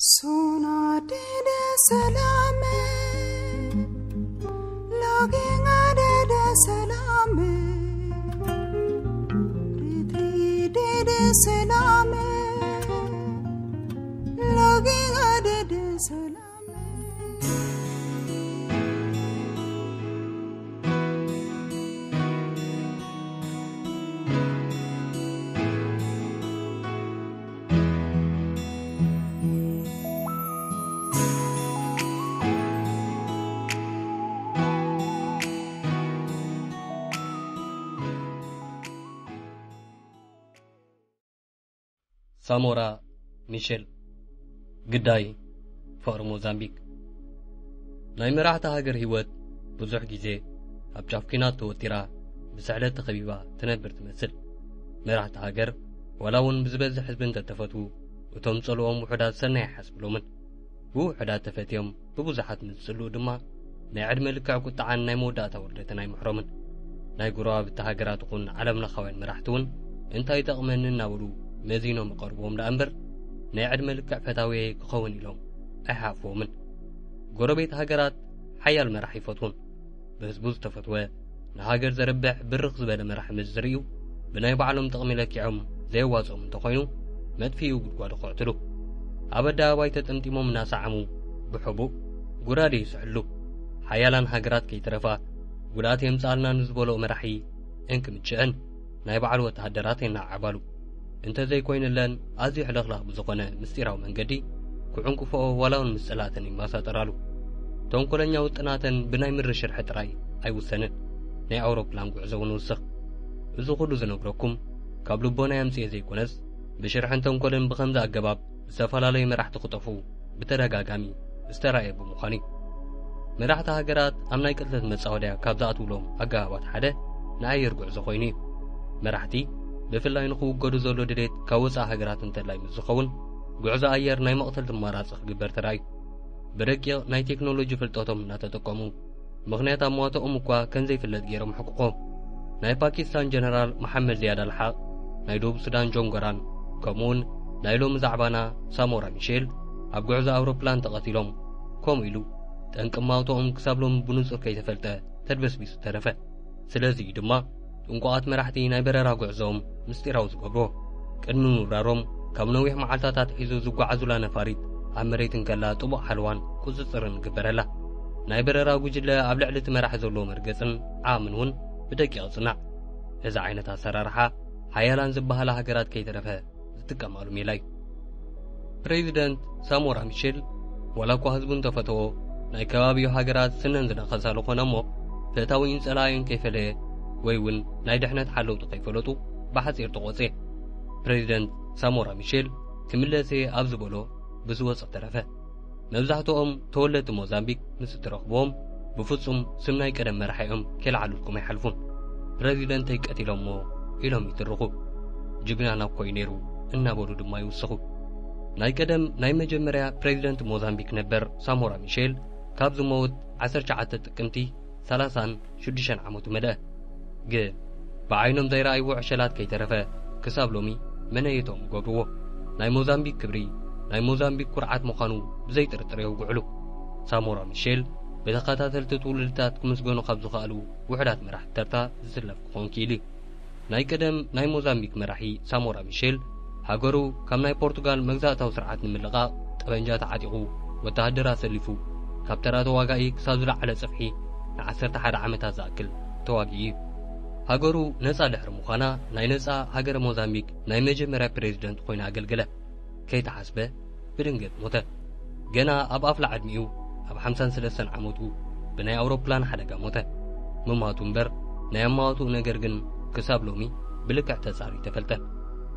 Sona dede salame, login adede salame, ritri dede salame, login adede salame. ሳሞራ ሚሼል። ግዳይ ፍቕሪ ሞዛምቢክ። ናይ መራሕቲ ሃገር ህይወት ብዙሕ ግዜ ኣብ ጫፍ ኲናት ተወጢራ፣ ብስዕለት ተኸቢባ ትነብር ትመስል። መራሕቲ ሃገር ዋላ እውን ብዝበዝሕ ህዝቢ እንተተፈትዉ፣ እቶም ጸልኦም ውሑዳት ሰናይ ኣይሓስብሎምን። ብውሑዳት ተፈትዮም ብብዙሓት ምስ ዝጽልኡ ድማ ናይ ዕድመ ልክዕ ቁጥዓን ናይ መወዳእታ ውርደትን ኣይምሕሮምን። ናይ ጎረባብቲ ሃገራት ይኹን ዓለምለኻውያን መራሕቲ እውን እንታይ ይጠቕመኒ እናበሉ መዚኖም ይቐርብዎም ደኣ እምበር ናይ ዕድመ ልክዕ ፈታውየይ ክኸውን ኢሎም ኣይሓፍዎምን። ጎረቤት ሃገራት ሓያል መራሕ ይፈትዉን። ብህዝቡ ዝተፈትወ፣ ንሃገር ዘርብሕ ብርኽ ዝበለ መራሕ ምስ ዝርእዩ፣ ብናይ ባዕሎም ጥቕሚ ለኪዖም ዘየዋጽኦም እንተኾይኑ፣ መጥፊኡ ጉድጓዱ ክቕትሉ። ኣብ ኣደባባይ ተጠምጢሞም እናሰዓሙ፣ ብሕቡእ ጉራዴ ይስሕሉ። ሓያላን ሃገራት ከይተረፋ፣ ጉድኣት የምጽኣልና ንዝበልኦ መራሒ እንክምችአን ናይ ባዕሉ ወተሃደራት የነዓዕባሉ። እንተዘይኮይኑለን ኣዝዩ ሕልኽላኽ ብዝኾነ ምስጢራዊ መንገዲ ክዕንቅፎኦ ዋላ እውን ምስ ጸላእተን ይመሳጠራሉ። ተንኮለኛ ውጥናተን ብናይ ምድሪ ሽርሒ ጥራይ ኣይውሰንን። ናይ ኣውሮፕላን ጉዕዞ እውን ይውስኽ። እዚ ኩሉ ዝነግረኩም ካብ ልቦናይ ኣምጽኤ ዘይኮነስ ብሽርሕን ተንኮልን ብኸምዚ ኣገባብ ዝተፈላለዩ መራሕቲ ክጠፍኡ ብተደጋጋሚ ዝተራእየ ብምዃኑ እዩ። መራሕቲ ሃገራት ኣብ ናይ ቅትለት መጻወድያ ካብ ዝኣትውሎም ኣገባባት ሓደ ንኣየር ጉዕዞ ኮይኑ እዩ። መራሕቲ ብፍላይ ንኽውገዱ ዘሎ ድሌት ካብ ወጻኢ ሃገራት እንተላይ ምስ ዝኸውን፣ ጉዕዞ ኣየር ናይ መቕተልቲ ኣማራጺ ክግበር ተራእዩ። ብረቂቕ ናይ ቴክኖሎጂ ፍልጠቶም እናተጠቀሙ፣ ምኽንያት ኣሟቶኦም እኳ ከም ዘይፍለጥ ገይሮም ሕቁቆ። ናይ ፓኪስታን ጀነራል መሓመድ ዚያድ ኣልሓቕ፣ ናይ ደቡብ ሱዳን ጆን ጎራን፣ ከምኡውን ናይ ሎሚ ዛዕባና ሳሞራ ሚሼል ኣብ ጉዕዞ ኣውሮፕላን ተቐቲሎም። ከምኡ ኢሉ ጠንቂ ማውቶኦም ክሳብ ሎሚ ብንጹር ከይተፈልጠ ተድበስቢሱ ተረፈ። ስለዚ እዩ ድማ ጥንቁቓት መራሕቲ ናይ በረራ ጉዕዞኦም ምስጢራዊ ዝገብርዎ። ቅድሚ ምብራሮም ካብ ነዊሕ መዓልታት ኣትሒዙ ዝጓዓዙላ ነፋሪት ኣብ መሬት እንከላ ጥቡቕ ሓለዋን ቁጽጽርን ይግበረላ። ናይ በረራ ጉጅለ ኣብ ልዕሊ እቲ መራሕ ዘለዎ መርገጽን ዓቕምን እውን ብደቂቕ ይጽናዕ። እዚ ዓይነት ኣሰራርሓ ሓያላን ዝበሃላ ሃገራት ከይተረፈ ዝጥቀማሉ ሜላ እዩ። ፕሬዚደንት ሳሞራ ሚሼል ዋላ እኳ ህዝቡ እንተፈተዎ፣ ናይ ከባቢኡ ሃገራት ስነን ዝነኸሳ ዝኾነ እሞ፣ ፈታዊኡን ጸላኢኡን ከይፈለየ ወይ እውን ናይ ድሕነት ሓለውቱ ከይፈለጡ ብሓጺር ተቖጽየ። ፕሬዚደንት ሳሞራ ሚሼል ክምለስ እየ ኣብ ዝበሎ ብዝወጸ ተረፈ። መብዛሕትኦም ተወለድቲ ሞዛምቢክ ምስ እትረኽብዎም፣ ብፍጹም ስም ናይ ቀደም መራሒኦም ከይለዓሉልኩም ኣይሓልፉን። ፕረዚደንተይ ቀቲሎሞ ኢሎም ይትርኹ። ጅግናና እኮ እዩ ነይሩ እናበሉ ድማ ይውስኹ። ናይ ቀደም ናይ መጀመርያ ፕረዚደንት ሞዛምቢክ ነበር ሳሞራ ሚሼል ካብ ዝመውት ዓሰርተ ትሽዓተ ጥቅምቲ ሰላሳን ሽዱሽተን ዓመቱ መለአ። ግን ብዓይኖም ዘይረኣይዎ ዕሸላት ከይተረፈ ክሳብ ሎሚ መነየቶም ይገብርዎ። ናይ ሞዛምቢክ ክብሪ፣ ናይ ሞዛምቢክ ኩርዓት ምዃኑ ብዘይ ጥርጥር የውግዕሉ። ሳሞራ ሚሼል ብተኸታተልቲ ትውልድታት ክምስገኑ ካብ ዝኸኣሉ ውሑዳት መራሕቲ ተርታ ዝስለፍ ክኾን ክኢሉ እዩ። ናይ ቀደም ናይ ሞዛምቢክ መራሒ ሳሞራ ሚሼል ሃገሩ ካብ ናይ ፖርቱጋል መግዛእታዊ ስርዓት ንምልቓቕ ጠበንጃ ተዓጢቑ ወተሃደር ኣሰሊፉ ካብ ተራ ተዋጋኢ ክሳብ ዝለዓለ ጽፍሒ ንዓሰርተ ሓደ ዓመታት ዝኣክል ተዋጊኡ እዩ። ሃገሩ ነጻ ድሕሪ ምዃና ናይ ነጻ ሃገረ ሞዛምቢክ ናይ መጀመርያ ፕሬዚደንት ኮይኑ ኣገልገለ። ከይተሓስበ ብድንገት ሞተ። ገና ኣብ ኣፍላ ዕድሚኡ ኣብ ሓምሳን ሰለስተን ዓመቱ ብናይ ኣውሮፕላን ሓደጋ ሞተ። ምማቱ እምበር ናይ ኣማዋትኡ ነገር ግን ክሳብ ሎሚ ብልክዕ ተጻሪ ተፈልጠ።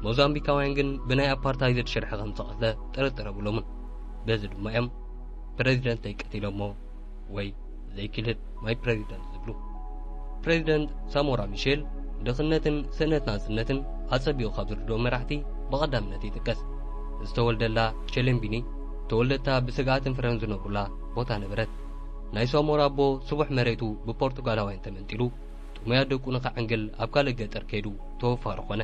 ሞዛምቢካውያን ግን ብናይ ኣፓርታይዝድ ሽርሒ ከም ዝተቐትለ ጥርጥር የብሎምን። በዚ ድማ እዮም ፕረዚደንተይ ቀቲሎሞ ወይ ዘይክልል ማይ ፕረዚደንት ዝብሉ። ፕረዚደንት ሳሞራ ሚሼል ድኽነትን ስእነት ናጽነትን ኣጸቢቑ ካብ ዝርድኦ መራሕቲ ብቐዳምነት ይጥቀስ። ዝተወልደላ ሸሌምቢኒ ተወለድታ ብስግኣትን ፍረን ዝነብሩላ ቦታ ነበረት። ናይ ሳሞራ ኣቦ ስቡሕ መሬቱ ብፖርቱጋላውያን ተመንጢሉ ጥሙያት ደቁ ንኸዕንግል ኣብ ካልእ ገጠር ከይዱ ተወፋሪ ኾነ።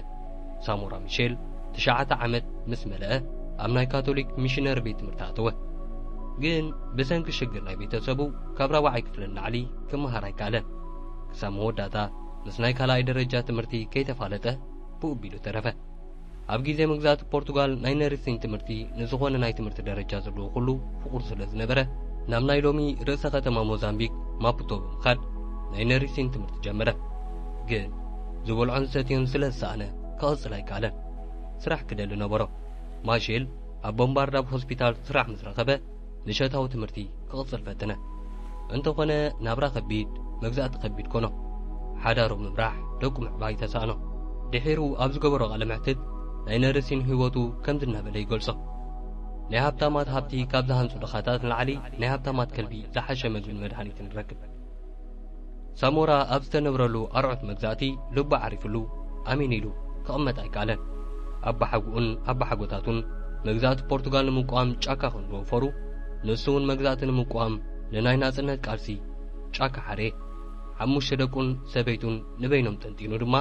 ሳሞራ ሚሼል ትሽዓተ ዓመት ምስ መለአ ኣብ ናይ ካቶሊክ ሚሽነሪ ቤት ትምህርቲ ኣተወ። ግን ብሰንኪ ሽግር ናይ ቤተሰቡ ካብ ራብዓይ ክፍሊ ንላዕሊ ክመሃር ኣይከኣለን። ክሳብ መወዳእታ ምስ ናይ ካልኣይ ደረጃ ትምህርቲ ከይተፋለጠ ብኡ ኣቢሉ ተረፈ። ኣብ ግዜ መግዛእቲ ፖርቱጋል ናይ ነርሲን ትምህርቲ ንዝኾነ ናይ ትምህርቲ ደረጃ ዘለዎ ኩሉ ፍቑር ስለ ዝነበረ፣ ናብ ናይ ሎሚ ርእሰ ከተማ ሞዛምቢክ ማፑቶ ብምኻድ ናይ ነርሲን ትምህርቲ ጀመረ። ግን ዝበልዖን ዝሰትዮን ስለ ዝሰኣነ ክቕጽል ኣይከኣለን። ስራሕ ክደሊ ነበሮ። ማሼል ኣብ ቦምባርዳብ ሆስፒታል ስራሕ ምስ ረኸበ፣ ምሸታዊ ትምህርቲ ክቕጽል ፈተነ። እንተኾነ ናብራ ከቢድ፣ መግዛእቲ ከቢድ ኮኖ። ሓዳሩ ምምራሕ፣ ደቁ ምዕባይ ተሳእኖ። ድሒሩ ኣብ ዝገበሮ ቃለ መሕትት ናይ ነርሲን ህይወቱ ከምዚ እናበለ ይገልጾ። ናይ ሃብታማት ሃብቲ ካብ ዝሃንጹ ድኻታት ንላዕሊ ናይ ሃብታማት ከልቢ ዝሓሸ መግብን መድሃኒትን ንረክብ። ሳሞራ ኣብ ዝተነብረሉ ኣርዑት መግዛእቲ ልቡ ዓሪፍሉ ኣሜን ኢሉ ክቕመጥ ኣይከኣለን። ኣባሓጎኡን ኣባሓጎታቱን መግዛእቲ ፖርቱጋል ንምቋም ጫካ ከም ዝወፈሩ፣ ንሱ እውን መግዛእቲ ንምቋም ንናይ ናጽነት ቃልሲ ጫካ ሓረየ። ሓሙሽተ ደቁን ሰበይቱን ንበይኖም ጠንጢኑ ድማ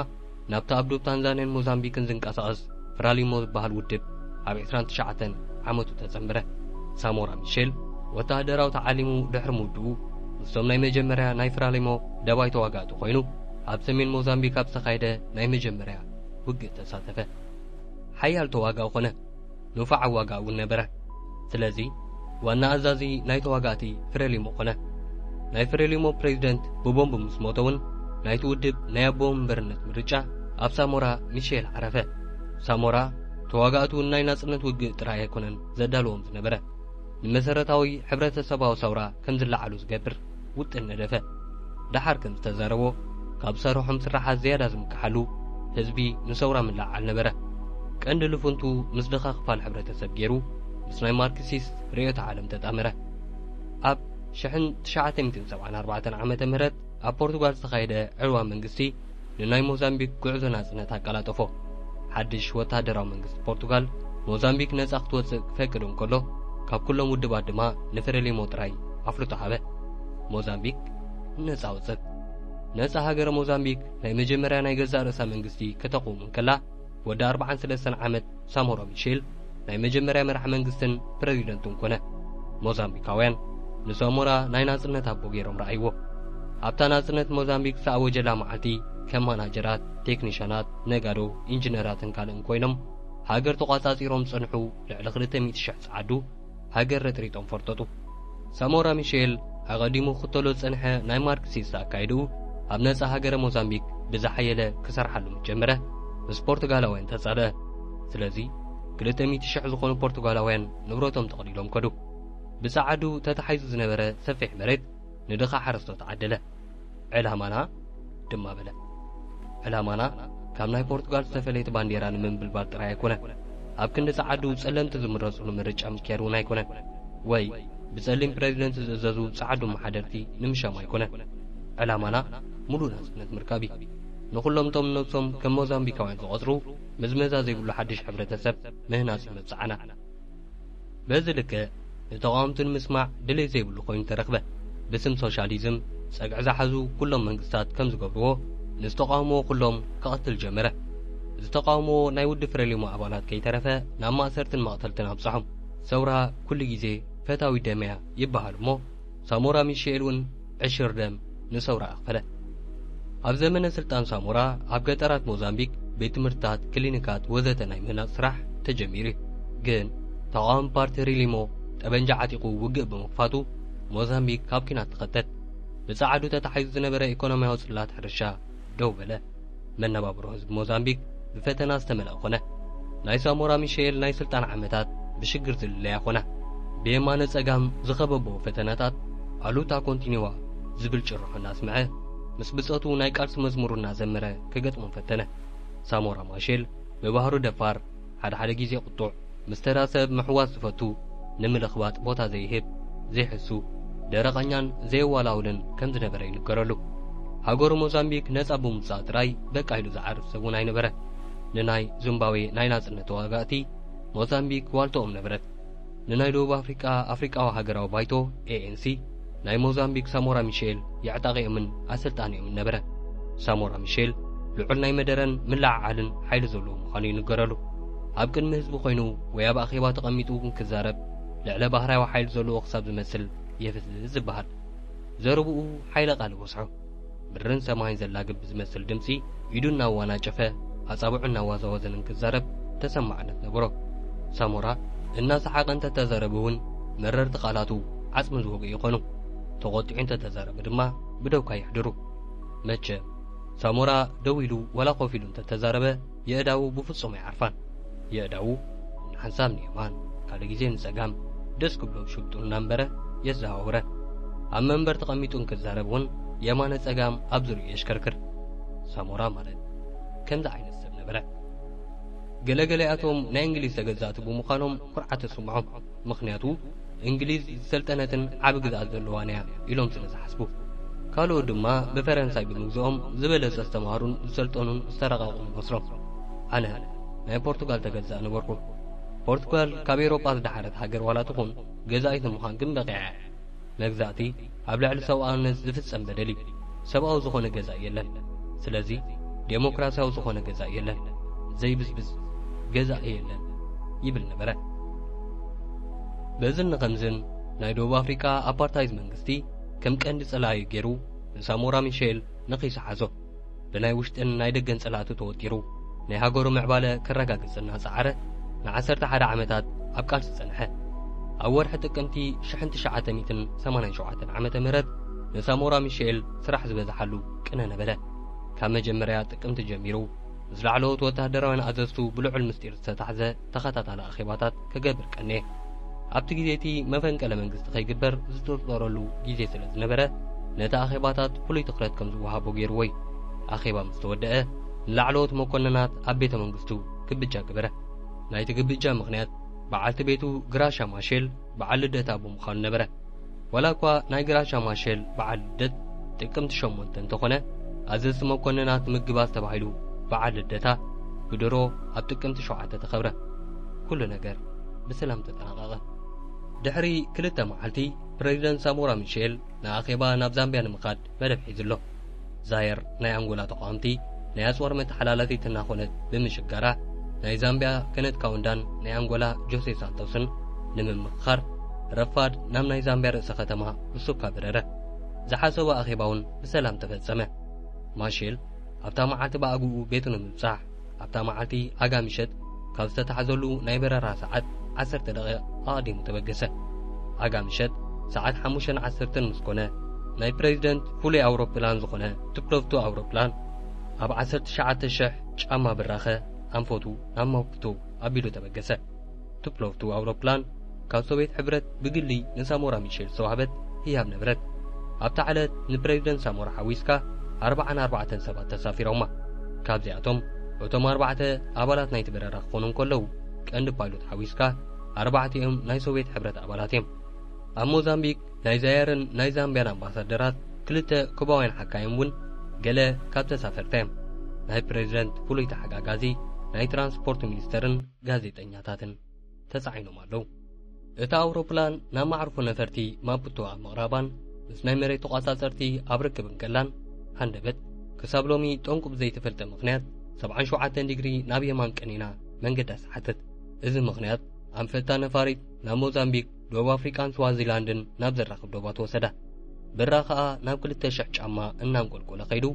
ናብቲ ኣብ ዶብ ታንዛንያን ሞዛምቢክን ዝንቀሳቐስ ፍራሊሞ ዝበሃል ውድብ ኣብ ዕስራን ትሽዓተን ዓመቱ ተጸንበረ። ሳሞራ ሚሼል ወተሃደራዊ ተዓሊሙ ድሕሪ ምውድኡ፣ ምስቶም ናይ መጀመርያ ናይ ፍራሊሞ ደባይ ተዋጋእቲ ኮይኑ፣ ኣብ ሰሜን ሞዛምቢክ ኣብ ዝተኻየደ ናይ መጀመርያ ውግእ ተሳተፈ። ሓያል ተዋጋኢ ኮነ። ንፉዕ ኣዋጋኢ እውን ነበረ። ስለዚ ዋና ኣዛዚ ናይ ተዋጋእቲ ፍሬሊሞ ኮነ። ናይ ፍሬሊሞ ፕሬዚደንት ብቦምብ ምስ ሞተ እውን፣ ናይቲ ውድብ ናይ ኣቦ መንበርነት ምርጫ ኣብ ሳሞራ ሚሼል ዓረፈ። ሳሞራ ተዋጋእቱ ናይ ናጽነት ውግእ ጥራይ ኣይኮነን ዘዳልዎም ዝነበረ፣ ንመሰረታዊ ሕብረተሰባዊ ሰውራ ከም ዝለዓሉ ዝገብር ውጥን ነደፈ። ደሓር ከም ዝተዛረቦ፣ ካብ ዝሰርሖም ስራሓት ዝያዳ ዝምክሓሉ ህዝቢ ንሰውራ ምልዕዓል ነበረ። ቀንዲ ልፍንቱ ምስ ድኻ ክፋል ሕብረተሰብ ገይሩ፣ ምስ ናይ ማርክሲስት ርእዮተ ዓለም ተጣመረ። ኣብ ሽሕን ትሽዓተ ሚእትን ሰብዓን ኣርባዕተን ዓመተ ምህረት ኣብ ፖርቱጋል ዝተኻየደ ዕልዋ መንግስቲ ንናይ ሞዛምቢክ ጉዕዞ ናጽነት ኣቀላጠፎ። ሓድሽ ወተሃደራዊ መንግስቲ ፖርቱጋል ሞዛምቢክ ነጻ ክትወጽእ ክፈቅድ እንከሎ፣ ካብ ኩሎም ውድባት ድማ ንፍሬሊሞ ጥራይ ኣፍልጦ ሃበ። ሞዛምቢክ ነጻ ወጽእ። ነጻ ሃገረ ሞዛምቢክ ናይ መጀመርያ ናይ ገዛእ ርእሳ መንግስቲ ከተቕውም እንከላ፣ ወዲ ኣርባዓን ሰለስተን ዓመት ሳሞራ ሚሼል ናይ መጀመርያ መራሕ መንግስትን ፕረዚደንትን ኮነ። ሞዛምቢካውያን ንሳሞራ ናይ ናጽነት ኣቦ ገይሮም ረኣይዎ። ኣብታ ናጽነት ሞዛምቢክ ዝኣወጀላ መዓልቲ፣ ከም ማናጀራት፣ ቴክኒሻናት፣ ነጋዶ፣ ኢንጂነራትን ካልእን ኮይኖም ሃገር ተቋጻጺሮም ዝጸንሑ ልዕሊ ክልተ ሚእቲ ሽሕ ጸዓዱ፣ ሃገር ረጥሪጦም ፈርጠጡ። ሳሞራ ሚሼል ኣቐዲሙ ክኽተሎ ዝጸንሐ ናይ ማርክሲስት ኣካይድኡ፣ ኣብ ነጻ ሃገረ ሞዛምቢክ ብዝሓየለ ክሰርሓሉ ምስ ጀመረ፣ ምስ ፖርቱጋላውያን ተጻልአ። ስለዚ፣ ክልተ ሚእቲ ሽሕ ዝኾኑ ፖርቱጋላውያን ንብረቶም ጠቕሊሎም ከዱ። ብጸዓዱ ተታሒዙ ዝነበረ ሰፊሕ መሬት ንድኻ ሓረስቶት ዓደለ። ዕላማና ድማ በለ። ዕላማና ካብ ናይ ፖርቱጋል ዝተፈለየት ባንዴራ ንምንብልባል ጥራይ ኣይኮነን። ኣብ ክንዲ ጸዓዱ ጸለምቲ ዝምረጽሉ ምርጫ ምክያድ እውን ኣይኮነን። ወይ ብጸሊም ፕረዚደንት ዝእዘዙ ጸዓዱ መሓደርቲ ንምሻም ኣይኮነን። ዕላማና ሙሉእ ናጽነት ምርካብ እዩ። ንኹሎም እቶም ነብሶም ከም ሞዛምቢካውያን ዝቖጽሩ ምዝመዛ ዘይብሉ ሓድሽ ሕብረተሰብ ምህናጽ እዩ መብጽዓና። በዚ ልክዕ ንተቓወምቲ ንምስማዕ ድሌት ዘይብሉ ኮይኑ ተረኽበ። ብስም ሶሻሊዝም ጸግዒ ዝሓዙ ኩሎም መንግስታት ከም ዝገብርዎ፣ ንዝተቓወምዎ ኩሎም ክቐትል ጀመረ። ዝተቓወምዎ ናይ ውዲ ፍሬሊሞ ኣባላት ከይተረፈ ናብ ማእሰርትን መቕተልትን ኣብጽሖም። ሰውራ ኩሉ ግዜ ፈታዊ ደም እያ ይበሃል እሞ፣ ሳሞራ ሚሼል እውን ዕሽር ደም ንሰውራ ኣኽፈለ። ኣብ ዘመነ ስልጣን ሳሞራ ኣብ ገጠራት ሞዛምቢክ ቤት ትምህርትታት፣ ክሊኒካት ወዘተ ናይ ምህናጽ ስራሕ ተጀሚሩ እዩ። ግን ተቓዋሚ ፓርቲ ሪሊሞ ጠበንጃ ዓጢቑ ውግእ ብምኽፋቱ ሞዛምቢክ ካብ ኲናት ተኸተት። ብጸዓዱ ተታሒዙ ዝነበረ ኢኮኖሚያዊ ጽላት ሕርሻ ደው በለ። መነባብሮ ህዝቢ ሞዛምቢክ ብፈተና ዝተመልአ ኮነ። ናይ ሳሞራ ሚሼል ናይ ስልጣን ዓመታት ብሽግር ዝልለያ ኮና። ብየማነ ጸጋም ዝኸበቦ ፈተናታት ኣሉታ ኮንቲኒዋ ዝብል ጭርሖ እናስምዐ፣ ምስ ብጾቱ ናይ ቃልሲ መዝሙሩ እናዘመረ ክገጥሞም ፈተነ። ሳሞራ ማሼል ብባህሩ ደፋር፣ ሓደ ሓደ ግዜ ቁጡዕ፣ ምስ ተራ ሰብ ምሕዋስ ዝፈቱ፣ ንምልኽባጥ ቦታ ዘይህብ፣ ዘይሕሱ፣ ደረቐኛን ዘየዋላውልን ከም ዝነበረ ይንገረሉ። ሃገሩ ሞዛምቢክ ነጻ ብምውጻእ ጥራይ በቃ ኢሉ ዝዓርፍ ሰብ እውን ኣይነበረን። ንናይ ዚምባብዌ ናይ ናጽነት ተዋጋእቲ ሞዛምቢክ ዋልታኦም ነበረት። ንናይ ደቡብ ኣፍሪቃ ኣፍሪቃዊ ሃገራዊ ባይቶ፣ ኤ ኤን ሲ፣ ናይ ሞዛምቢክ ሳሞራ ሚሼል የዕጣቒኦምን ኣሰልጣኒኦምን ነበረ። ሳሞራ ሚሼል ልዑል ናይ መደረን ምልዕዓልን ሓይሊ ዘለዎ ምዃኑ ይንገረሉ። ኣብ ቅድሚ ህዝቢ ኮይኑ ወይ ኣብ ኣኼባ ተቐሚጡ ክዛረብ ልዕለ ባህርያዊ ሓይሊ ዘለዎ ክሳብ ዝመስል የፍዝዝ ዝበሃል። ዘረብኡ ሓይለ ቃል ይበዝሖ። ምድርን ሰማይን ዘላግብ ብዝመስል ድምጺ ኢዱ እናዋናጨፈ ኣጻብዑ እናዋዛወዘን ክዛረብ ተሰማዕነት ነበሮ። ሳሞራ እናሰሓቐ እንተተዛረበ እውን መረርቲ ቃላቱ ዓጽሚ ዝወግኡ ይኾኑ። ተቖጢዑ እንተተዛረበ ድማ ብደውካ የሕድሩ። መቸም ሳሞራ ደው ኢሉ ዋላ ኮፍ ኢሉ እንተተዛረበ የእዳዉ ብፍጹም ኣይዓርፋን። የእዳዉ ንሓንሳብ ንየማን ካልእ ግዜ ንጸጋም ደስ ክብሎ ሽብጡ እናንበረ የዘዋውረን። ኣብ መንበር ተቐሚጡ እንክዛረብ እውን የማነ ጸጋም ኣብ ዙርያኡ የሽከርክር። ሳሞራ ማለት ከምዚ ዓይነት ሰብ ነበረ። ገለገለያቶም ናይ እንግሊዝ ተገዛእቲ ብምዃኖም ኩርዓት ተስምዖም። ምኽንያቱ እንግሊዝ ዝሰልጠነትን ዓቢ ግዝኣት ዘለዋን እያ ኢሎም ስለ ዝሓስቡ። ካልኦት ድማ ብፈረንሳይ ብምግዝኦም ዝበለጸ ዝተማህሩን ዝሰልጠኑን ዝተረቐቑን ይመስሎም። ኣነ ናይ ፖርቱጋል ተገዛእ ነበርኩ። ፖርቱጋል ካብ ኤውሮጳ ዝደሓረት ሃገር ዋላ ትኹን ገዛኢት ንምዃን ግን በቒዓ እያ። መግዛእቲ ኣብ ልዕሊ ሰብኣውነት ዝፍጸም በደል እዩ። ሰብኣዊ ዝኾነ ገዛኢ የለን። ስለዚ ዴሞክራሲያዊ ዝኾነ ገዛኢ የለን። ዘይብዝብዝ ገዛኢ የለን ይብል ነበረ። በዝን ከምዝን ናይ ደቡብ ኣፍሪቃ ኣፓርታይድ መንግስቲ ከም ቀንዲ ጸላኢ ገይሩ ንሳሞራ ሚሼል ነኺሱ ሓዞ። ብናይ ውሽጥን ናይ ደገን ጸላእቱ ተወጢሩ ናይ ሃገሩ ምዕባለ ከረጋግጽ እናጸዓረ ንዓሰርተ ሓደ ዓመታት ኣብ ቃልሲ ጸንሐ። ኣብ ወርሒ ጥቅምቲ ሽሕን ትሽዓተ ሚእትን ሰማንያን ሸውዓተን ዓመተ ምህረት ንሳሞራ ሚሼል ስራሕ ዝበዝሓሉ ቅነ ነበረ። ካብ መጀመርያ ጥቅምቲ ጀሚሩ ምስ ላዕለዎት ወተሃደራውያን ኣዘዝቱ ብልዑል ምስጢር ዝተታሕዘ ተኸታታሊ ኣኼባታት ክገብር ቀነየ። ኣብቲ ግዜ እቲ መፈንቀለ መንግስቲ ከይግበር ዝተጠረሉ ግዜ ስለ ዝነበረ ነቲ ኣኼባታት ፍሉይ ትኹረት ከም ዝወሃቦ ገይርዎ እዩ። ኣኼባ ምስ ተወደአ ንላዕለዎት መኮንናት ኣብ ቤተ መንግስቱ ግብጃ ገበረ። ናይቲ ግብጃ ምኽንያት በዓልቲ ቤቱ ግራሻ ማሼል በዓል ልደታ ብምዃኑ ነበረ። ዋላ እኳ ናይ ግራሻ ማሼል በዓል ልደት ጥቅምቲ ሸሞንተ እንተኾነ ኣዘዝቲ መኮንናት ምግባዝ ተባሂሉ በዓል ልደታ ብድሮ ኣብ ጥቅምቲ ሸውዓተ ተኸብረ። ኩሉ ነገር ብሰላም ተጠናቐቐ። ድሕሪ ክልተ መዓልቲ ፕሬዚደንት ሳሞራ ሚሼል ንኣኼባ ናብ ዛምቢያ ንምኻድ መደብ ሒዙ ኣሎ። ዛየር ናይ ኣንጎላ ተቓወምቲ ናይ ኣጽዋር መተሓላለፊት እናኾነት ብምሽጋራ ናይ ዛምቢያ ከነት ካውንዳን ናይ ኣንጎላ ጆሴ ሳንቶስን ንምምኽኻር ረፋድ ናብ ናይ ዛምቢያ ርእሰ ከተማ ሉሱካ በረረ። ዝሓሰቦ ኣኼባ እውን ብሰላም ተፈጸመ። ማሼል ኣብታ መዓልቲ ብኣግኡ ቤቱ ንምብጻሕ ኣብታ መዓልቲ ኣጋ ምሸት ካብ ዝተታሕዘሉ ናይ በረራ ሰዓት ዓሰርተ ደቂቕ ኣቐዲሙ ተበገሰ። ኣጋ ምሸት ሰዓት ሓሙሽተን ዓሰርተን ምስ ኮነ ናይ ፕሬዚደንት ፍሉይ ኣውሮፕላን ዝኾነ ቱፕሎቭቱ ኣውሮፕላን ኣብ ዓሰርተ ትሽዓተ ሽሕ ጫማ ብራኸ ኣንፈቱ ናብ ማፑቶ ኣቢሉ ተበገሰ። ቱፕሎቭቱ ኣውሮፕላን ካብ ሶቪየት ሕብረት ብግሊ ንሳሞራ ሚሼል ዝተዋህበት ህያብ ነበረት። ኣብታ ዕለት ንፕሬዚደንት ሳሞራ ሓዊስካ ኣርባዓን ኣርባዕተን ሰባት ተሳፊሮማ። ካብዚኣቶም እቶም ኣርባዕተ ኣባላት ናይቲ በረራ ክኾኑ እንከለዉ ቀንዲ ፓይሎት ሓዊስካ ኣርባዕቲኦም ናይ ሶቪየት ሕብረት ኣባላት እዮም። ኣብ ሞዛምቢክ ናይ ዛየርን ናይ ዛምቢያን ኣምባሳደራት ክልተ ኩባውያን ሓካይም እውን ገለ ካብ ተሳፈርቲ እዮም። ናይ ፕሬዚደንት ፍሉይ ተሓጋጋዚ ናይ ትራንስፖርት ሚኒስተርን ጋዜጠኛታትን ተጻዒኖም ኣለዉ። እታ ኣውሮፕላን ናብ መዓርፎ ነፈርቲ ማፑቶ ኣብ ምቕራባን ምስ ናይ መሬት ተቋጻጸርቲ ኣብ ርክብ እንከላን ሃንደበት ክሳብ ሎሚ ጠንቁ ብዘይተፈልጠ ምኽንያት ሰብዓን ሸውዓተን ዲግሪ ናብ የማን ቀኒና መንገዳ ሰሓተት። እዚ ምኽንያት ኣንፈታ ነፋሪት ናብ ሞዛምቢክ፣ ደቡብ ኣፍሪቃን ስዋዚላንድን ናብ ዘራኽብ ዶባት ወሰዳ። ብራ ከኣ ናብ ክልተ ሽሕ ጫማ እናንቆልቆለ ከይዱ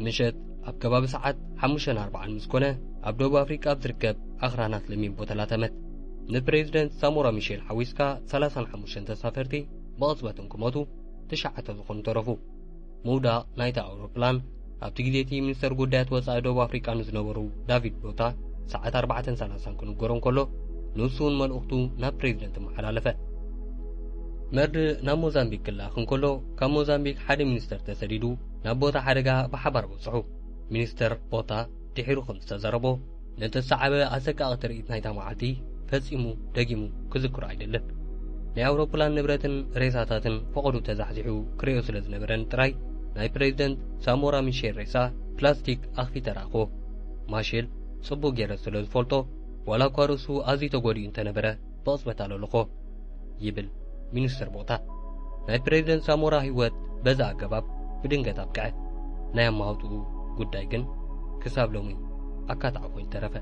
ምሸት ኣብ ከባቢ ሰዓት ሓሙሽተን ኣርባዓን ምስ ኮነ ኣብ ደቡብ ኣፍሪቃ ኣብ ዝርከብ ኣኽራናት ለሚን ቦታ ላተመት። ንፕሬዚደንት ሳሞራ ሚሼል ሓዊስካ ሰላሳን ሓሙሽተን ተሳፈርቲ ብቕጽበት እንክሞቱ ትሽዓተ ዝኾኑ ተረፉ። ምውዳቕ ናይታ ኣውሮፕላን ኣብቲ ግዜ እቲ ሚኒስተር ጉዳያት ወጻኢ ደቡብ ኣፍሪቃ ንዝነበሩ ዳቪድ ቦታ ሰዓት ኣርባዕተን ሰላሳን ክንገሮ እንከሎ ንሱ እውን መልእኽቱ ናብ ፕሬዚደንት ኣመሓላለፈ። መርድእ ናብ ሞዛምቢክ ክለኣኽ እንከሎ ካብ ሞዛምቢክ ሓደ ሚኒስተር ተሰዲዱ ናብ ቦታ ሓደጋ ብሓባር በጽሑ። ሚኒስተር ቦታ ድሒሩ ከም ዝተዛረቦ ነቲ ዝሰዓበ ኣሰቃቒ ትርኢት ናይታ መዓልቲ ፈጺሙ ደጊሙ ክዝክሮ ኣይደልን። ናይ ኣውሮፕላን ንብረትን ሬሳታትን ፈቐዶ ተዛሕዚሑ ክርእዮ ስለ ዝነበረን ጥራይ ናይ ፕሬዚደንት ሳሞራ ሚሼል ሬሳ ፕላስቲክ ኣኽፊተ ረኣኽዎ። ማሼል ጽቡቕ ገይረ ስለ ዝፈልጦ ዋላ እኳ ርእሱ ኣዝዩ ተጎዲኡ እንተነበረ ብቕጽበት ኣለለኾ ይብል ሚኒስተር ቦታ። ናይ ፕሬዚደንት ሳሞራ ህይወት በዚ ኣገባብ ብድንገት ኣብቅዐ። ናይ ኣማውጥኡ ጉዳይ ግን ክሳብ ሎሚ ኣካታዒ ኮይኑ ተረፈ።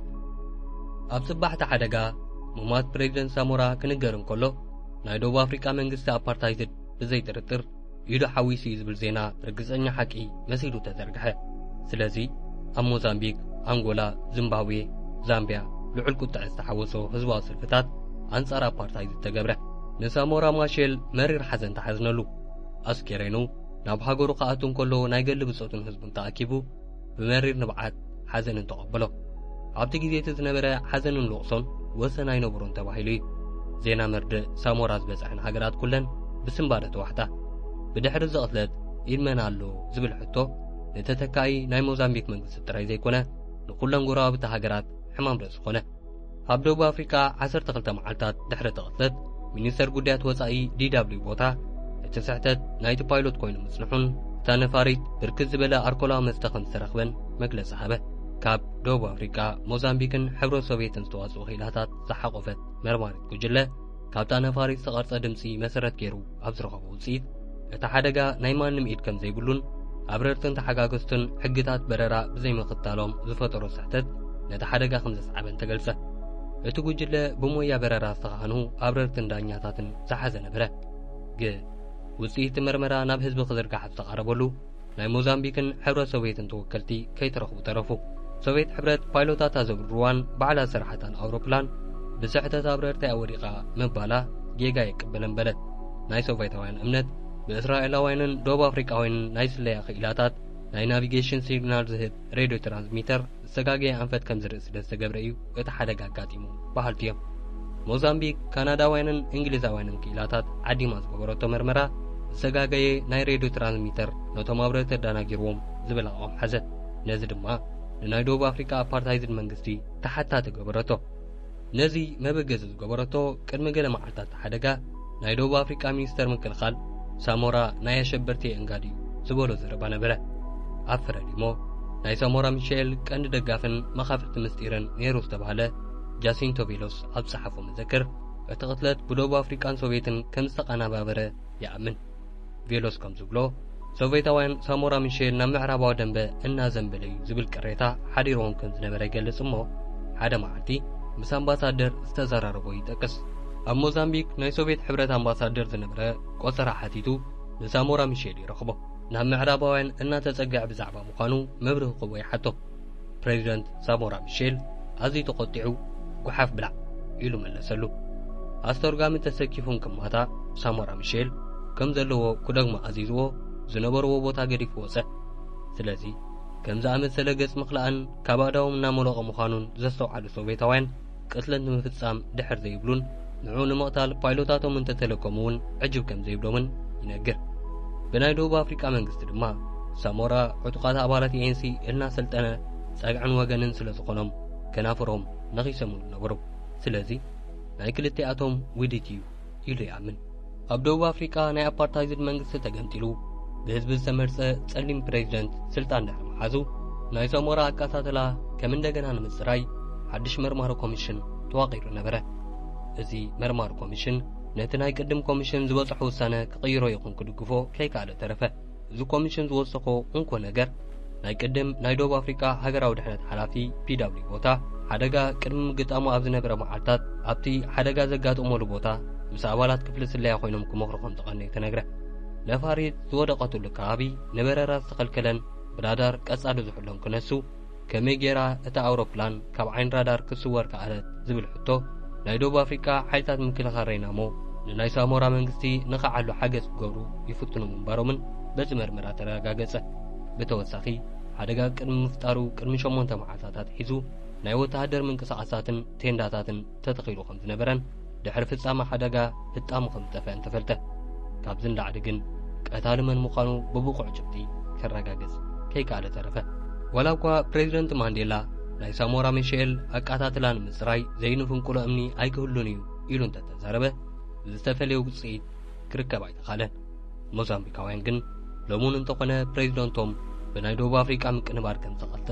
ኣብ ጽባሕቲ ሓደጋ ምሟት ፕሬዚደንት ሳሞራ ክንገር እንከሎ፣ ናይ ደቡብ ኣፍሪቃ መንግስቲ ኣፓርታይድ ብዘይጥርጥር ኢዱ ሓዊሱ እዩ ዝብል ዜና ርግጸኛ ሓቂ መሲሉ ተዘርግሐ። ስለዚ ኣብ ሞዛምቢክ፣ ኣንጎላ፣ ዚምባብዌ፣ ዛምቢያ ልዑል ቁጥዐ ዝተሓወሶ ህዝባዊ ሰልፍታት ኣንጻር ኣፓርታይድ ዝተገብረ። ንሳሞራ ማሼል መሪር ሓዘን ተሓዝነሉ። ኣስኬሬኑ ናብ ሃገሩ ክኣቱ እንከሎ ናይ ገሊ ብጾቱን ህዝቡን ተኣኪቡ ብመሪር ንብዓት ሓዘን እንተቐበሎ። ኣብቲ ግዜ እቲ ዝነበረ ሓዘንን ልቕሶን ወሰን ኣይነበሮን ተባሂሉ እዩ። ዜና መርድእ ሳሞራ ዝበጽሐን ሃገራት ኩለን ብስንባደ ተዋሕጣ። ብድሕሪ እዚ ቅትለት ኢድ መን ኣሎ ዝብል ሕቶ ንተተካኢ ናይ ሞዛምቢክ መንግስቲ ጥራይ ዘይኮነ ንኩለን ጎረባብቲ ሃገራት ሕማም ርእሲ ኮነ። ኣብ ደቡብ ኣፍሪቃ ዓሰርተ ክልተ መዓልታት ድሕሪ እቲ ቅትለት ሚኒስተር ጉዳያት ወጻኢ ዲ ደብሊው ቦታ እቲ ስሕተት ናይቲ ፓይሎት ኮይኑ ምጽንሑን እታ ነፋሪት ብርክት ዝበለ ኣርኮላዊ መስተ ከም ዝተረኽበን መግለጺ ሃበ። ካብ ደቡብ ኣፍሪቃ፣ ሞዛምቢክን ሕብረት ሶቪየትን ዝተዋጽኡ ክኢላታት ዝሓቖፈት መርማሪት ጉጅለ ካብታ ነፋሪት ዝተቐርጸ ድምጺ መሰረት ገይሩ ኣብ ዝረኸቦ ውጽኢት እቲ ሓደጋ ናይ ማንም ኢድ ከም ዘይብሉን ኣብረርትን ተሓጋገዝትን ሕግታት በረራ ብዘይምኽታሎም ዝፈጠሮ ስሕተት ነቲ ሓደጋ ከም ዘስዓበን ተገልጸ። እቲ ጉጅለ ብሞያ በረራ ዝተኻህኑ ኣብረርትን ዳኛታትን ዝሓዘ ነበረ። ግን ውጽኢት መርመራ ናብ ህዝቢ ክዝርጋሕ ኣብ ዝተቓረበሉ ናይ ሞዛምቢክን ሕብረት ሶቪየትን ተወከልቲ ከይተረኽቡ ተረፉ። ሶቪየት ሕብረት ፓይሎታታ ዘብርርዋን ባዕላ ዝሰርሓታን ኣውሮፕላን ብስሕተት ኣብረርቲኣ ወዲቓ ምባላ ጌጋ የቅብለን በለት። ናይ ሶቪየታውያን እምነት ብእስራኤላውያንን ደቡብ ኣፍሪቃውያንን ናይ ስለያ ክኢላታት ናይ ናቪጌሽን ሲግናል ዝህብ ሬድዮ ትራንስሚተር ዝተጋገየ ኣንፈት ከም ዝርኢ ስለ ዝተገብረ እዩ እቲ ሓደጋ ኣጋጢሙ በሃልቲ እዮም። ሞዛምቢክ ካናዳውያንን እንግሊዛውያንን ክኢላታት ዓዲማ ዝገበረቶ መርመራ ዝተጋገየ ናይ ሬድዮ ትራንስሚተር ነቶም ኣብረርቲ ኣደናጊርዎም ዝብል ኣቋም ሓዘት። ነዚ ድማ ንናይ ደቡብ ኣፍሪቃ ኣፓርታይዝድ መንግስቲ ተሓታቲ ገበረቶ። ነዚ መበገዚ ዝገበረቶ ቅድሚ ገለ መዓልታት ሓደጋ ናይ ደቡብ ኣፍሪቃ ሚኒስተር ምክልኻል ሳሞራ ናይ ኣሸበርቲ የእንጋድ እዩ ዝበሎ ዘረባ ነበረ። ኣብ ፍረዲሞ ናይ ሳሞራ ሚሻኤል ቀንዲ ደጋፍን መኻፍልቲ ምስጢርን ነይሩ ዝተባህለ ጃሲንቶ ቬሎስ ኣብ ዝጸሓፎ መዘክር እቲ ቅትለት ብደቡብ ኣፍሪቃን ሶቪየትን ከም ዝተቐናባበረ ይኣምን። ቬሎስ ከም ዝብሎ ሶቪየታውያን ሳሞራ ሚሼል ናብ ምዕራባዊ ደንበ እናዘንበለ እዩ ዝብል ቅሬታ ሓዲርዎም ከም ዝነበረ ይገልጽ እሞ ሓደ መዓልቲ ምስ ኣምባሳደር ዝተዘራረቦ ይጠቅስ። ኣብ ሞዛምቢክ ናይ ሶቪየት ሕብረት ኣምባሳደር ዝነበረ ቆጸራ ሓቲቱ ንሳሞራ ሚሼል ይረኽቦ። ናብ ምዕራባውያን እናተጸግዐ ብዛዕባ ምዃኑ መብርሂ ክህቦ ይሓቶ። ፕሬዚደንት ሳሞራ ሚሼል ኣዝዩ ተቖጢዑ፣ "ጓሓፍ ብላዕ" ኢሉ መለሰሉ። ኣስተርጓሚ ተሰኪፉን ክማታ ሳሞራ ሚሼል ከም ዘለዎ ክደግሞ ኣዚዝዎ ዝነበርዎ ቦታ ገዲፉ ወጸ። ስለዚ ከም ዝኣመሰለ ገጽ ምኽላእን ካብ ኣእዳዎም እናመለቐ ምዃኑን ዘስተውዓሉ ሶቪየታውያን ቅትለት ንምፍጻም ድሕር ዘይብሉን ንዕኡ ንምቕታል ፓይሎታቶም እንተተለከሙ እውን ዕጅብ ከም ዘይብሎምን ይነግር። ብናይ ደቡብ ኣፍሪቃ መንግስቲ ድማ ሳሞራ ዕጡቓት ኣባላት ኤንሲ እናሰልጠነ ጸግዕን ወገንን ስለ ዝኾኖም ከናፍሮም ነኺሶምሉ ነበሩ። ስለዚ ናይ ክልቲኣቶም ውዲት እዩ ኢሉ ይኣምን። ኣብ ደቡብ ኣፍሪቃ ናይ ኣፓርታይዝድ መንግስቲ ተገምጢሉ ብህዝቢ ዝተመርጸ ጸሊም ፕሬዚደንት ስልጣን ድሕሪ ምሓዙ ናይ ሳሞራ ኣቀታትላ ከም እንደገና ንምጽራይ ሓድሽ መርማሪ ኮሚሽን ተዋቒሩ ነበረ። እዚ መርማሪ ኮሚሽን ነቲ ናይ ቅድም ኮሚሽን ዝበጽሖ ውሳነ ክቕይሮ ይኹን ክድግፎ ከይከኣለ ተረፈ። እዚ ኮሚሽን ዝወሰኾ እንኮ ነገር ናይ ቅድም ናይ ደቡብ ኣፍሪቃ ሃገራዊ ድሕነት ሓላፊ ፒ ደብሊው ቦታ ሓደጋ ቅድሚ ምግጣሙ ኣብ ዝነበረ መዓልታት ኣብቲ ሓደጋ ዘጋጠመሉ ቦታ ምስ ኣባላት ክፍሊ ስለያ ኮይኖም ክመኽሩ ከም ዝቐነዩ ተነግረ። ነፋሪት ዝወደቐትሉ ከባቢ ንበረራ ዝተኸልከለን ብራዳር ቀጻሊ ዝሕሎን ክነሱ ከመይ ጌራ እታ ኣውሮፕላን ካብ ዓይኒ ራዳር ክትስወር ከኣለት ዝብል ሕቶ ናይ ደቡብ ኣፍሪቃ ሓይልታት ምክልኻል ሬናሞ ንናይ ሳሞራ መንግስቲ ንኸዓሉ ሓገዝ ክገብሩ ይፍትኑ ምንባሮምን በዚ መርመራ ተረጋገጸ። ብተወሳኺ ሓደጋ ቅድሚ ምፍጣሩ ቅድሚ ሸሞንተ መዓልታት ኣትሒዙ ናይ ወተሃደር ምንቅስቓሳትን ቴንዳታትን ተተኺሉ ከም ዝነበረን ድሕሪ ፍጻመ ሓደጋ ህጣሙ ከም ዝጠፍአን ተፈልጠ። ካብዚ ንላዕሊ ግን ቀታሊ መን ምዃኑ ብብቑዕ ጭብጢ ከረጋግጽ ከይከኣለ ተረፈ። ዋላ እኳ ፕሬዚደንት ማንዴላ ናይ ሳሞራ ሚሼል ኣቃታትላ ንምጽራይ ዘይንፍንቅሎ እምኒ ኣይክህሉን እዩ ኢሉ እንተተዛረበ ዝተፈለየ ውጽኢት ክርከብ ኣይተኻለን። ሞዛምቢካውያን ግን ሎሙን እንተኾነ ፕሬዚደንቶም ብናይ ደቡብ ኣፍሪቃ ምቅንባር ከም ዝተቐልጠ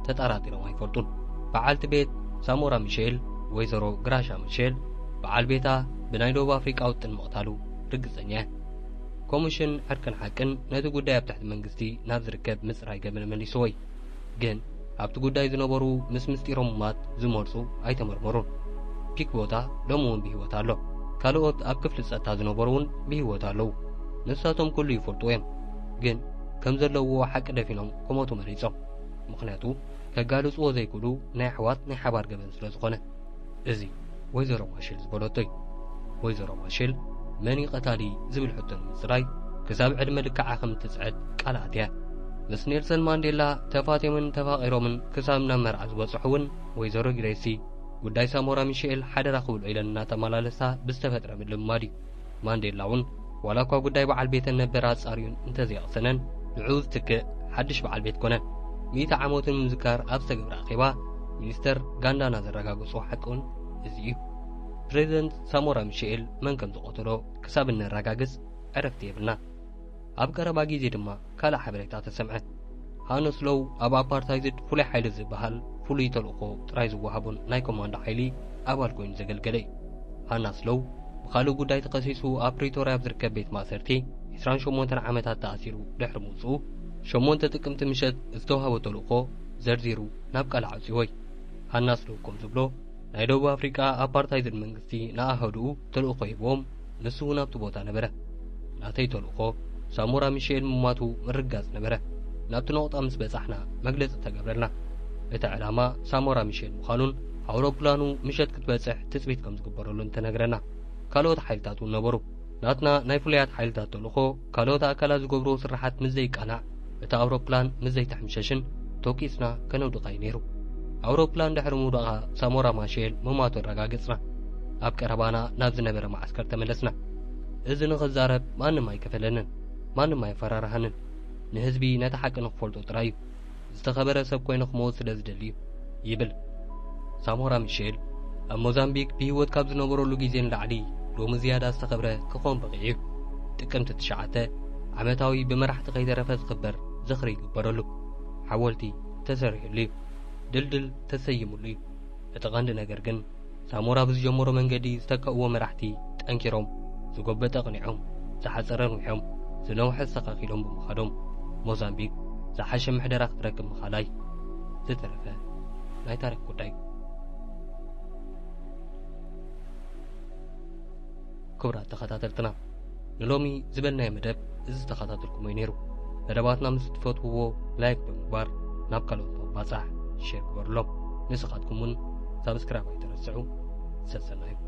ተጠራጢሮም ኣይፈልጡን። በዓልቲ ቤት ሳሞራ ሚሼል ወይዘሮ ግራሻ ሚሼል በዓል ቤታ ብናይ ደቡብ ኣፍሪቃ ውጥን ምቕታሉ ርግጸኛ እያ። ኮሚሽን ዕርቅን ሓቅን ነቲ ጉዳይ ኣብ ትሕቲ መንግስቲ ናብ ዝርከብ ምጽራይ ገበን መሊስዎ እዩ። ግን ኣብቲ ጉዳይ ዝነበሩ ምስ ምስጢሮም ማት ዝመርጹ ኣይተመርመሩን። ፒክ ቦታ ሎሚ እውን ብህይወት ኣሎ። ካልኦት ኣብ ክፍሊ ጸጥታ ዝነበሩ እውን ብህይወት ኣለዉ። ንሳቶም ኩሉ ይፈልጡ እዮም። ግን ከም ዘለውዎ ሓቂ ደፊኖም ክሞቱ መሪጾም። ምኽንያቱ ከጋልጽዎ ዘይክእሉ ናይ ኣሕዋት ናይ ሓባር ገበን ስለ ዝኾነ። እዚ ወይዘሮ ማሼል ዝበለቶ እዩ። ወይዘሮ ማሼል መን እዩ ቀታሊ ዝብል ሕቶ ንምጽራይ ክሳብ ዕድመ ልክዓ ከም እትጽዕት ቃል ኣትያ። ምስ ኔልሰን ማንዴላ ተፋትዮምን ተፋቒሮምን ክሳብ ናብ መርዓ ዝበጽሑ እውን ወይዘሮ ግሬሲ ጉዳይ ሳሞራ ሚሽኤል ሓደራ ክብልዑ ኢለን እናተመላለሳ ብዝተፈጥረ ምልምማድ እዩ። ማንዴላ እውን ዋላ እኳ ጉዳይ በዓል ቤተን ነበር ኣጻርዩን እንተዘይቐሰነን ንዕኡ ዝትክእ ሓድሽ በዓል ቤት ኮነን። ሚእቲ ዓመቱ ንምዝካር ኣብ ዝተገብረ ኣኼባ ሚኒስተር ጋንዳና ዘረጋገጾ ሓቂ እውን እዚ እዩ። ፕሬዚደንት ሳሞራ ሚሽኤል መን ከም ዝቐተሎ ክሳብ እነረጋግጽ ዕረፍቲ የብልና። ኣብ ቀረባ ግዜ ድማ ካልእ ሓበሬታ ተሰምዐ። ሃነስ ሎው ኣብ ኣፓርታይዝድ ፍሉይ ሓይሊ ዝበሃል ፍሉይ ተልእኾ ጥራይ ዝወሃቦን ናይ ኮማንዶ ሓይሊ ኣባል ኮይኑ ዘገልገለ እዩ። ሃናስ ሎው ብኻልእ ጉዳይ ተኸሲሱ ኣብ ፕሪቶርያ ኣብ ዝርከብ ቤት ማእሰርቲ ዕስራን ሸሞንተን ዓመታት ተኣሲሩ ድሕሪ ምውጽኡ፣ ሸሞንተ ጥቅምቲ ምሸት ዝተዋህቦ ተልእኾ ዘርዚሩ ናብ ቃል ኣዕጺዎ እዩ። ሃናስ ሎው ከም ዝብሎ፣ ናይ ደቡብ ኣፍሪቃ ኣፓርታይዝድ መንግስቲ ንኣሃዱኡ ተልእኾ ሂብዎም፣ ንሱ እውን ኣብቲ ቦታ ነበረ። ናተይ ተልእኾ ሳሞራ ሚሽኤል ምሟቱ ምርግጋጽ ነበረ። ናብቲ ነቑጣ ምስ በጻሕና መግለጺ ተገብረልና። እቲ ዕላማ ሳሞራ ሚሽኤል ምዃኑን ኣውሮፕላኑ ምሸት ክትበጽሕ ትጽቢት ከም ዝግበረሉን ተነግረና። ካልኦት ሓይልታት እውን ነበሩ። ናትና ናይ ፍሉያት ሓይልታት ተልእኾ ካልኦት ኣካላት ዝገብርዎ ስርሓት ምስ ዘይቃናዕ፣ እታ ኣውሮፕላን ምስ ዘይተሐምሸሽን ተኲስና ከነውድቓ እዩ ነይሩ። ኣውሮፕላን ድሕሪ ምውዳቓ ሳሞራ ማሼል ምሟቱ ኣረጋገጽና። ኣብ ቀረባና ናብ ዝነበረ መዓስከር ተመለስና። እዚ ንኽዛረብ ማንም ኣይከፈለንን፣ ማንም ኣየፈራርሃንን። ንህዝቢ ነቲ ሓቂ ንኽፈልጦ ጥራይ እዩ። ዝተኸበረ ሰብ ኮይነ ክመውት ስለ ዝደሊ እዩ፣ ይብል። ሳሞራ ሚሼል ኣብ ሞዛምቢክ ብህይወት ካብ ዝነበረሉ ግዜ ንላዕሊ ሎሚ ዝያዳ ዝተኸብረ ክኸውን በቒዑ እዩ። ጥቅምቲ ትሽዓተ ዓመታዊ ብመራሕቲ ከይተረፈ ዝኽበር ዝኽሪ ይግበረሉ። ሓወልቲ ተሰሪሑሉ እዩ። ድልድል ተሰይሙሉ እዩ። እቲ ቀንዲ ነገር ግን ሳሞራ ብዝጀመሮ መንገዲ ዝተከእዎ መራሕቲ ጠንኪሮም፣ ዝጎበጠ ኣቕኒዖም፣ ዝሓጸረ ኣንዊሖም፣ ዝነውሐ ኣስተኻኺሎም ብምኻዶም ሞዛምቢክ ዝሓሸ ምሕደራ ክትረክብ ምኻላ እዩ ዝተረፈ ናይ ታሪኽ ጉዳይ። ክቡራት ተኸታተልትና፣ ንሎሚ ዝበልናዮ መደብ እዚ ዝተኸታተልኩሞ እዩ ነይሩ። መደባትና ምስ እትፈትውዎ ላይክ ብምግባር ናብ ካልኦት ብምባጻሕ ሼር ግበሩሎም። ንስኻትኩም እውን ሳብስክራይብ ኣይትረስዑ። ሰሰናዩ።